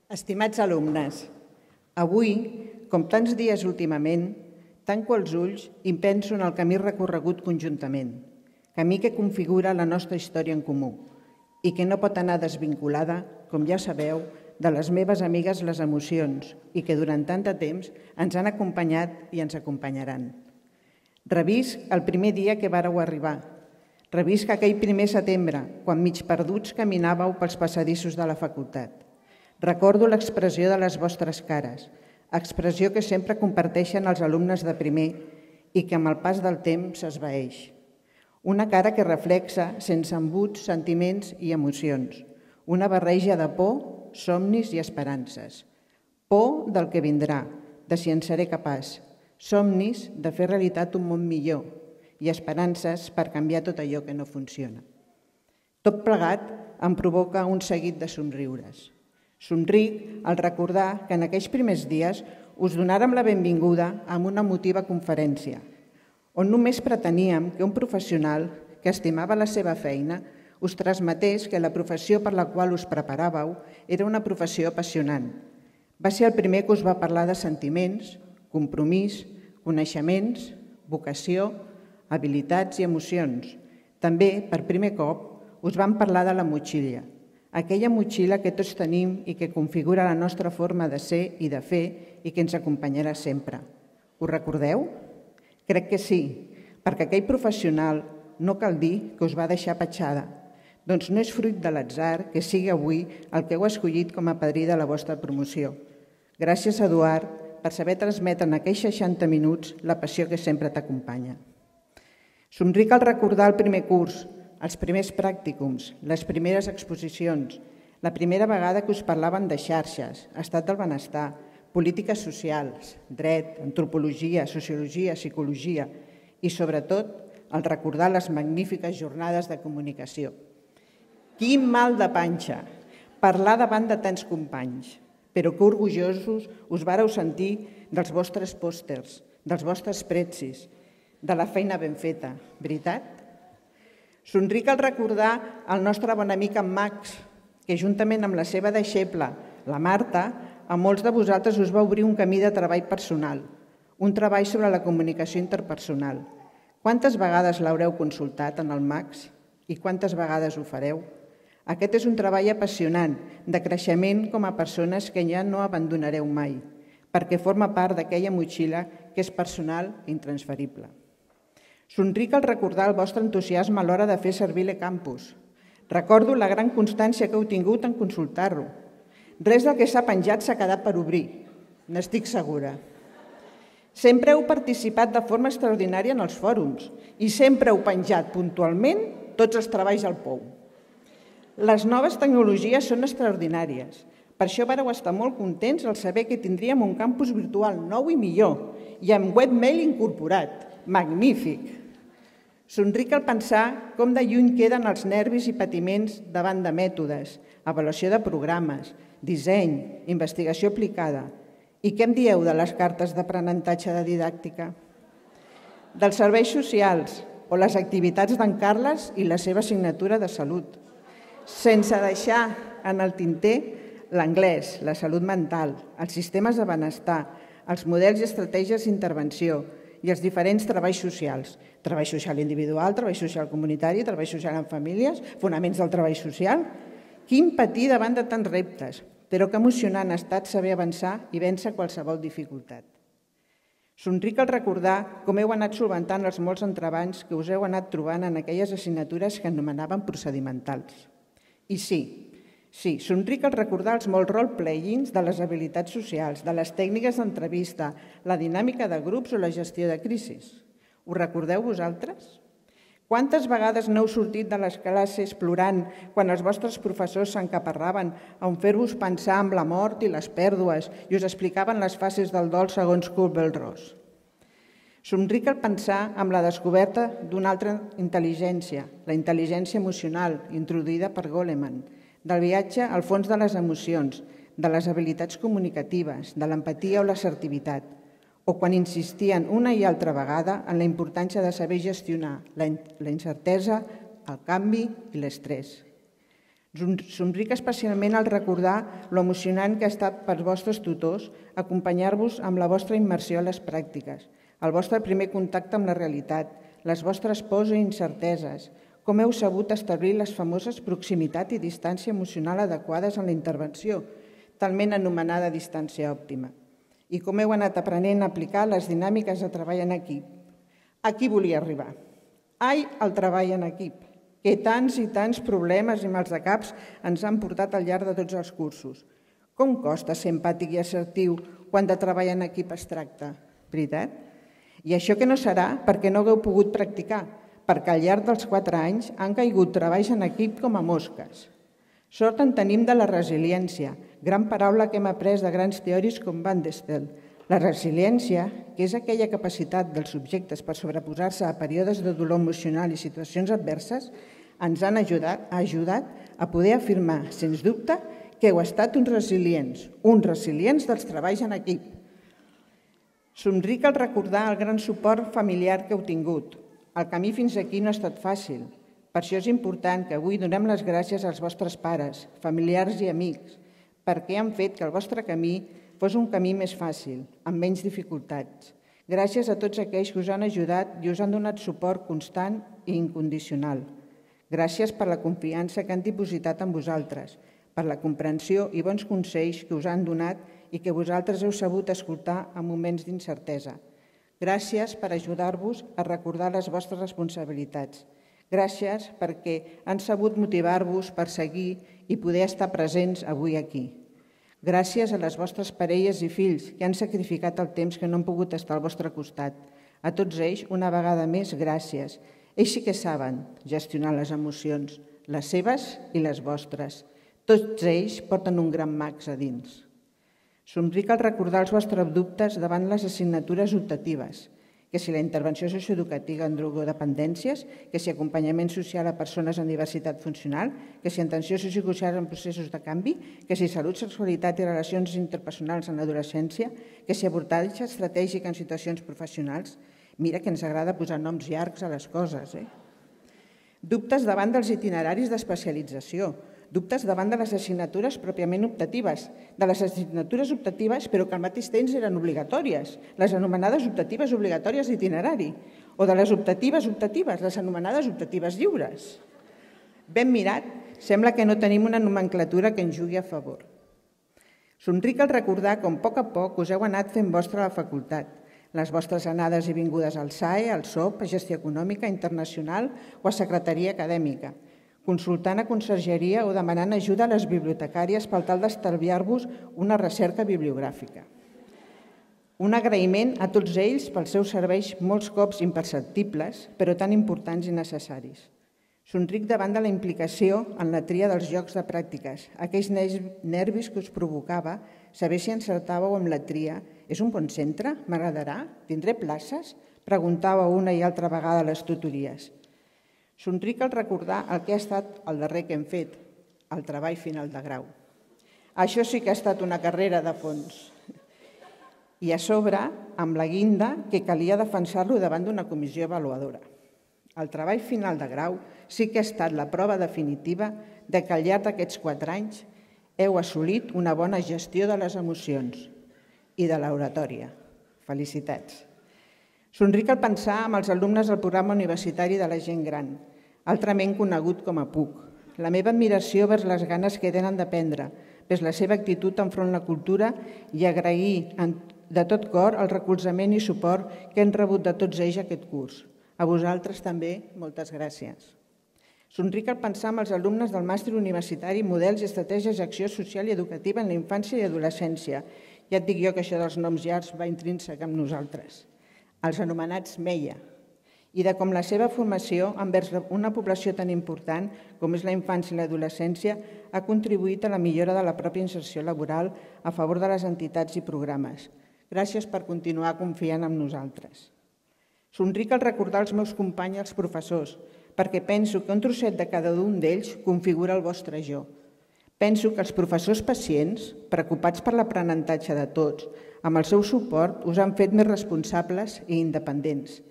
Estimats alumnes, avui, com tants dies últimament, tanco els ulls i penso en el camí recorregut conjuntament, camí que configura la nostra història en comú i que no pot anar desvinculada, com ja sabeu, de les meves amigues les emocions i que durant tant de temps ens han acompanyat i ens acompanyaran. Revisc el primer dia que vàreu arribar. Revisc aquell primer setembre, quan mig perduts caminàveu pels passadissos de la facultat. Recordo l'expressió de les vostres cares, expressió que sempre comparteixen els alumnes de primer i que amb el pas del temps s'esvaeix. Una cara que reflexa, sense embuts, sentiments i emocions. Una barreja de por, somnis i esperances. Por del que vindrà, de si en seré capaç. Somnis de fer realitat un món millor i esperances per canviar tot allò que no funciona. Tot plegat em provoca un seguit de somriures. Somric al recordar que en aquells primers dies us donàrem la benvinguda amb una emotiva conferència, on només preteníem que un professional que estimava la seva feina us transmetés que la professió per la qual us preparàveu era una professió apassionant. Va ser el primer que us va parlar de sentiments, compromís, coneixements, vocació, habilitats i emocions. També, per primer cop, us vam parlar de la motxilla, aquella motxilla que tots tenim i que configura la nostra forma de ser i de fer i que ens acompanyarà sempre. Us recordeu? Crec que sí, perquè aquell professional no cal dir que us va deixar petjada. Doncs no és fruit de l'atzar que sigui avui el que heu escollit com a padrí de la vostra promoció. Gràcies, Eduard, per saber transmetre en aquells 60 minuts la passió que sempre t'acompanya. Somric al recordar el primer curs, els primers pràcticums, les primeres exposicions, la primera vegada que us parlaven de xarxes, estat del benestar, polítiques socials, dret, antropologia, sociologia, psicologia i, sobretot, al recordar les magnífiques jornades de comunicació. Quin mal de panxa! Parlar davant de tants companys, però que orgullosos us vàreu sentir dels vostres pòsters, dels vostres pretzis, de la feina ben feta, veritat? Somric al recordar el nostre bon amic en Max, que juntament amb la seva deixeble, la Marta, a molts de vosaltres us va obrir un camí de treball personal, un treball sobre la comunicació interpersonal. Quantes vegades l'haureu consultat en el Max i quantes vegades ho fareu? Aquest és un treball apassionant, de creixement com a persones que ja no abandonareu mai, perquè forma part d'aquella motxilla que és personal i intransferible. Somric al recordar el vostre entusiasme a l'hora de fer servir l'eCampus. Recordo la gran constància que heu tingut en consultar-lo. Res del que s'ha penjat s'ha quedat per obrir, n'estic segura. Sempre heu participat de forma extraordinària en els fòrums i sempre heu penjat puntualment tots els treballs al POU. Les noves tecnologies són extraordinàries. Per això vareu estar molt contents al saber que tindríem un campus virtual nou i millor i amb webmail incorporat. Magnífic! Somric al pensar com de lluny queden els nervis i patiments davant de mètodes, avaluació de programes, disseny, investigació aplicada. I què em dieu de les cartes d'aprenentatge de didàctica? Dels serveis socials o les activitats d'en Carles i la seva assignatura de salut. Sense deixar en el tinter l'anglès, la salut mental, els sistemes de benestar, els models i estratègies d'intervenció i els diferents treballs socials. Treball social individual, treball social comunitari, treball social en famílies, fonaments del treball social. Quin patir davant de tants reptes, però que emocionant ha estat saber avançar i vèncer qualsevol dificultat. Somric al recordar com heu anat solventant els molts entrebancs que us heu anat trobant en aquelles assignatures que anomenaven procedimentals. I sí, somric al recordar els molts role-playings de les habilitats socials, de les tècniques d'entrevista, la dinàmica de grups o la gestió de crisis. Ho recordeu vosaltres? Quantes vegades n'heu sortit de les classes plorant quan els vostres professors s'encaparraven a fer-vos pensar en la mort i les pèrdues i us explicaven les fases del dol segons Kübler-Ross? Somric al pensar en la descoberta d'una altra intel·ligència, la intel·ligència emocional, introduïda per Goleman, del viatge al fons de les emocions, de les habilitats comunicatives, de l'empatia o l'assertivitat, o quan insistien una i altra vegada en la importància de saber gestionar la incertesa, el canvi i l'estrès. Somric especialment al recordar lo emocionant que ha estat pels vostres tutors acompanyar-vos amb la vostra immersió a les pràctiques, el vostre primer contacte amb la realitat, les vostres pors i incerteses, com heu sabut establir les famoses proximitat i distància emocional adequades en la intervenció, talment anomenada distància òptima, i com heu anat aprenent a aplicar les dinàmiques de treball en equip. Aquí volia arribar. Ai, el treball en equip, que tants i tants problemes i maldecaps ens han portat al llarg de tots els cursos. Com costa ser empàtic i assertiu quan de treball en equip es tracta, veritat? I això que no serà perquè no hagueu pogut practicar, perquè al llarg dels 4 anys han caigut treballs en equip com a mosques. Sort en tenim de la resiliència, gran paraula que hem après de grans teòrics com Van der Stel. La resiliència, que és aquella capacitat dels subjectes per sobreposar-se a períodes de dolor emocional i situacions adverses, ens han ajudat a poder afirmar, sens dubte, que heu estat uns resilients dels treballs en equip. Somric al recordar el gran suport familiar que heu tingut. El camí fins aquí no ha estat fàcil. Per això és important que avui donem les gràcies als vostres pares, familiars i amics, perquè han fet que el vostre camí fos un camí més fàcil, amb menys dificultats. Gràcies a tots aquells que us han ajudat i us han donat suport constant i incondicional. Gràcies per la confiança que han dipositat en vosaltres, per la comprensió i bons consells que us han donat i que vosaltres heu sabut escoltar en moments d'incertesa. Gràcies per ajudar-vos a recordar les vostres responsabilitats. Gràcies perquè han sabut motivar-vos per seguir i poder estar presents avui aquí. Gràcies a les vostres parelles i fills que han sacrificat el temps que no han pogut estar al vostre costat. A tots ells, una vegada més, gràcies. Ells sí que saben gestionar les emocions, les seves i les vostres. Tots ells porten un gran max a dins. Somric al recordar els vostres dubtes davant les assignatures optatives, que si la intervenció socioeducativa en drogodependències, que si acompanyament social a persones amb diversitat funcional, que si atenció sociosocial en processos de canvi, que si salut, sexualitat i relacions interpersonals en l'adolescència, que si abordatge estratègic en situacions professionals. Mira que ens agrada posar noms llargs a les coses. Dubtes davant dels itineraris d'especialització, dubtes davant de les assignatures pròpiament optatives, de les assignatures optatives però que al mateix temps eren obligatòries, les anomenades optatives obligatòries d'itinerari, o de les optatives, les anomenades optatives lliures. Ben mirat, sembla que no tenim una nomenclatura que ens jugui a favor. Somric al recordar com a poc us heu anat fent vostra a la facultat, les vostres anades i vingudes al SAE, al SOP, a Gestió Econòmica Internacional o a Secretaria Acadèmica, consultant a consergeria o demanant ajuda a les bibliotecàries per tal d'estalviar-vos una recerca bibliogràfica. Un agraïment a tots ells pels seus serveis molts cops imperceptibles, però tan importants i necessaris. Somric davant de la implicació en la tria dels llocs de pràctiques, aquells nervis que us provocava saber si encertàveu amb la tria. És un bon centre? M'agradarà? Tindré places? Preguntàveu una i altra vegada a les tutories. Somric al recordar el que ha estat el darrer que hem fet, el treball final de grau. Això sí que ha estat una carrera de fons. I a sobre, amb la guinda, que calia defensar-lo davant d'una comissió avaluadora. El treball final de grau sí que ha estat la prova definitiva de que al llarg d'aquests 4 anys heu assolit una bona gestió de les emocions i de l'oratòria. Felicitats. Somric al pensar amb els alumnes del programa universitari de la gent gran, altrament conegut com a PUC. La meva admiració vers les ganes que tenen d'aprendre, vers la seva actitud enfront la cultura i agrair de tot cor el recolzament i suport que hem rebut de tots ells aquest curs. A vosaltres també, moltes gràcies. Somric al pensar amb els alumnes del màster universitari Models i Estratègies d'Acció Social i Educativa en la Infància i Adolescència. Ja et dic jo que això dels noms llargs va intrínsec amb nosaltres. Els anomenats MEIA, i de com la seva formació envers una població tan important com és la infància i l'adolescència ha contribuït a la millora de la pròpia inserció laboral a favor de les entitats i programes. Gràcies per continuar confiant en nosaltres. Somric al recordar els meus companys i els professors, perquè penso que un trosset de cada un d'ells configura el vostre jo. Penso que els professors pacients, preocupats per l'aprenentatge de tots, amb el seu suport us han fet més responsables i independents.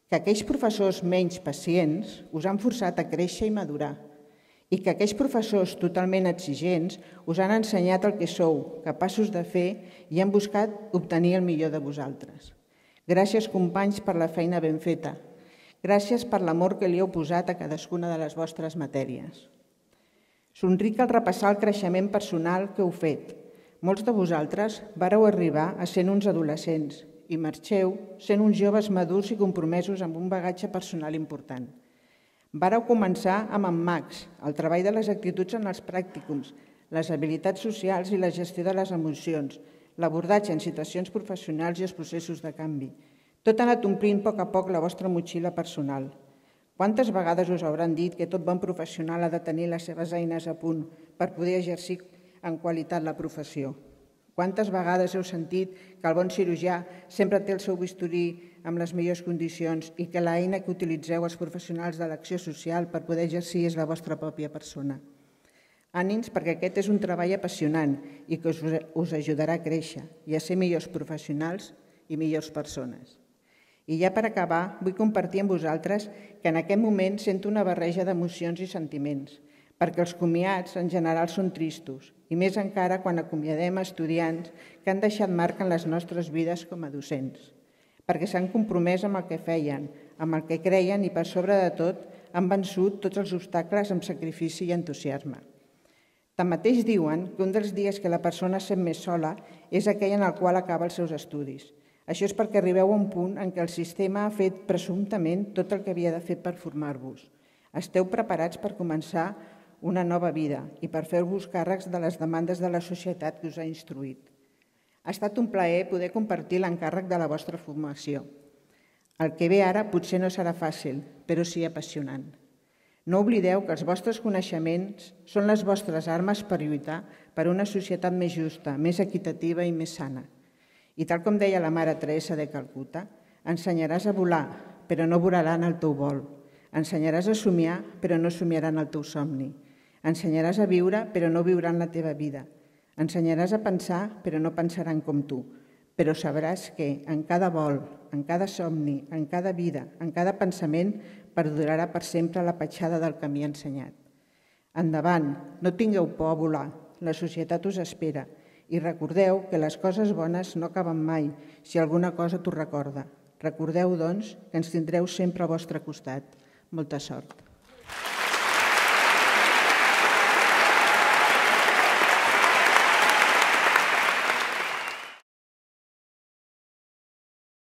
Que aquells professors menys pacients us han forçat a créixer i madurar i que aquells professors totalment exigents us han ensenyat el que sou capaços de fer i han buscat obtenir el millor de vosaltres. Gràcies, companys, per la feina ben feta. Gràcies per l'amor que li heu posat a cadascuna de les vostres matèries. Somric al repassar el creixement personal que heu fet. Molts de vosaltres vareu arribar a ser uns adolescents i marxeu sent uns joves madurs i compromesos amb un bagatge personal important. Vareu començar amb en Max, el treball de les actituds en els pràcticums, les habilitats socials i la gestió de les emocions, l'abordatge en situacions professionals i els processos de canvi. Tot ha anat omplint a poc la vostra motxilla personal. Quantes vegades us hauran dit que tot bon professional ha de tenir les seves eines a punt per poder exercir en qualitat la professió? Quantes vegades heu sentit que el bon cirurgià sempre té el seu bisturí amb les millors condicions i que l'eina que utilitzeu els professionals de l'acció social per poder exercir és la vostra pròpia persona? Ànims, perquè aquest és un treball apassionant i que us ajudarà a créixer i a ser millors professionals i millors persones. I ja per acabar, vull compartir amb vosaltres que en aquest moment sento una barreja d'emocions i sentiments, perquè els comiats en general són tristos, i més encara quan acomiadem estudiants que han deixat marca en les nostres vides com a docents, perquè s'han compromès amb el que feien, amb el que creien i, per sobre de tot, han vençut tots els obstacles amb sacrifici i entusiasme. Tanmateix diuen que un dels dies que la persona es sent més sola és aquell en el qual acaba els seus estudis. Això és perquè arribeu a un punt en què el sistema ha fet presumptament tot el que havia de fer per formar-vos. Esteu preparats per començar una nova vida i per fer-vos càrrecs de les demandes de la societat que us ha instruït. Ha estat un plaer poder compartir l'encàrrec de la vostra formació. El que ve ara potser no serà fàcil, però sí apassionant. No oblideu que els vostres coneixements són les vostres armes per lluitar per una societat més justa, més equitativa i més sana. I tal com deia la mare Teresa de Calcuta, ensenyaràs a volar, però no volaran el teu vol. Ensenyaràs a somiar, però no somiaran el teu somni. Ensenyaràs a viure, però no viuran la teva vida. Ensenyaràs a pensar, però no pensaran com tu. Però sabràs que en cada vol, en cada somni, en cada vida, en cada pensament, perdurarà per sempre la petjada del camí ensenyat. Endavant, no tingueu por a volar, la societat us espera. I recordeu que les coses bones no acaben mai si alguna cosa t'ho recorda. Recordeu, doncs, que ens tindreu sempre al vostre costat. Molta sort.